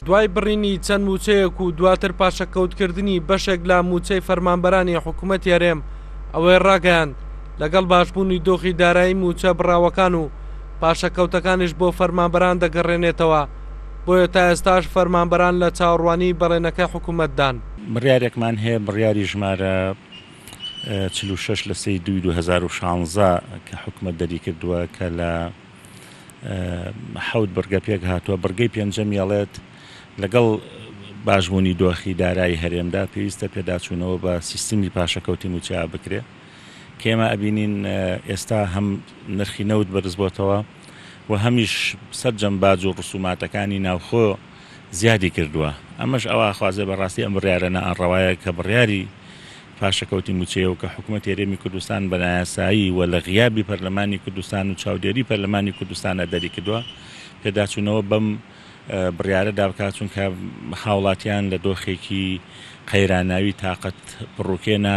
دوای بڕینی چەند مووچەیەک و دواتر پاشەکەوتکردنی بەشێک لە مووچەی فەرمانبەرانی حکومەتی هەرێم ئەوەی ڕاگەیاند، لەگەڵ باشبوونی دۆخی دارایی مووچە بڕاوەکان و پاشەکەوتەکانیش بۆ فەرمانبەران دەگەڕێنێتەوە، بۆیە تا ئێستاش فەرمانبەران لە چاوەڕوانی بەڵێنەکەی حکومەتدان. بڕیارێکمان هەیە بڕیاری ژمارە 46 لە سێی دووی 2016 کە حکومەت دەریکردووە کە لە حەوت بڕگە پێکهاتووە، بڕگەی پێنجەمی ئەڵێت لەگەڵ باشبوونی دۆخی دارایی هەرێمدا پێویستە پێداچوونەوە بە سیستمی پاشەکەوتی مووچە بکرێ کە ئێمە ئەبینین ئێستا هەم نرخی نەوت بەرزبۆتەوە و هەمیش سەرجەم باج و ڕسوماتەکانی ناوخۆ زیادی کردووە ئەمەش ئەوە ئەخوازێ بەڕاستی ئەم بڕیارە نائەڕەوایە کە بڕیاری پاشەکەوتی مووچەیە و کە حکومەتی هەرێمی کوردستان بە نایاسایی و لە غیابی پەرلەمانی کوردستان و چاودێری پەرلەمانی کوردستانە دەریکردووە پێداچوونەوە بەم بڕیارەدا بکات چونکە هاوڵاتیان لە دۆخێکی قەیراناوی تاقەت پڕوکێنە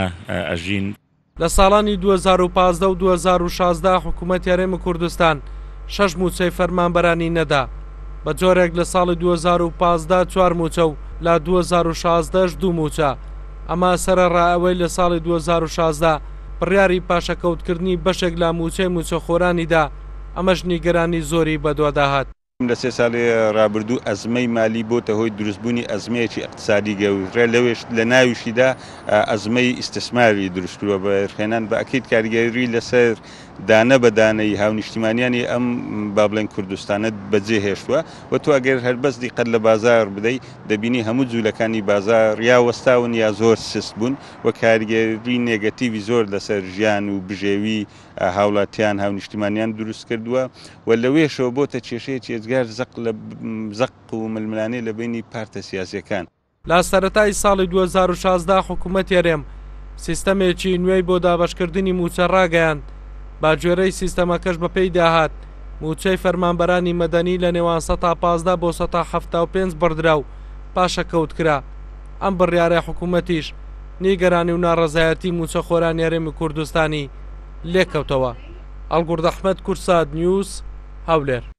ئەژین. لە ساڵانی 2015 و 2016 حکوومەتی هەرێمی کوردستان شەش مووچەی فەرمانبەرانی نەدا، بە جۆرێک لە ساڵی 2015 چوار مووچە و لە 2016 ش دوو مووچە، ئەمە سەرەڕای ئەوەی لە ساڵی 2016 بڕیاری پاشەکەوتکردنی بەشێک لە مووچەی مووچەخۆرانی دا، ئەمەش نیگەرانی زۆری بەدوادا هات. لە سێ ساڵی ڕابردوو ئەزمەی مالی بۆتە هۆی دروستبوونی ئەزمەیەکی ئیقتسادی گەورە لەوێش لە ناویشیدا ئەزمەی ئیستسماری دروست کردووە بە ێرخێنان بە ئەکید کاریگەری لەسەر دانە بە دانەی هاونیشتیمانیانی ئەم با بڵێن کوردستانە بەجێ هێشتووە و تۆ ئەگەر هەر بەس دیقەت لە بازاڕ بدەی دەبینی هەموو جوولەکانی بازاڕ یا وەستاون یا زۆر سست بوون و کاریگەری نێگەتیڤی زۆر لەسەر ژیان و بژێوی هاوڵاتیان، هاونیشتیمانیان دروست کردووە و لەوێشەوە بۆتە کێشەیەکی ئێجگار زەق لە زەق و ململانێ لە بەینی پارتە سیاسیەکان. لە سەرەتای ساڵی 2016 حکومەتی هەرێم سیستەمێکی نوێی بۆ دابەشکردنی مووچە ڕاگەیاند، بەگوێرەی سیستەمەکەش بەپێی داهات مووچەی فەرمانبەرانی مەدەنی لە نێوان سەتا 15 بۆ سەتا 75 بڕدرا و پاشەکەوت کرا. ئەم بڕیارەی حکومەتیش نیگەرانی و ناڕەزایەتی مووچەخۆرانی هەرێمی کوردستانی لێکەوتەوە. ئەڵگوڕد ئەحمەد، کوردسات نیوز، هەولێر.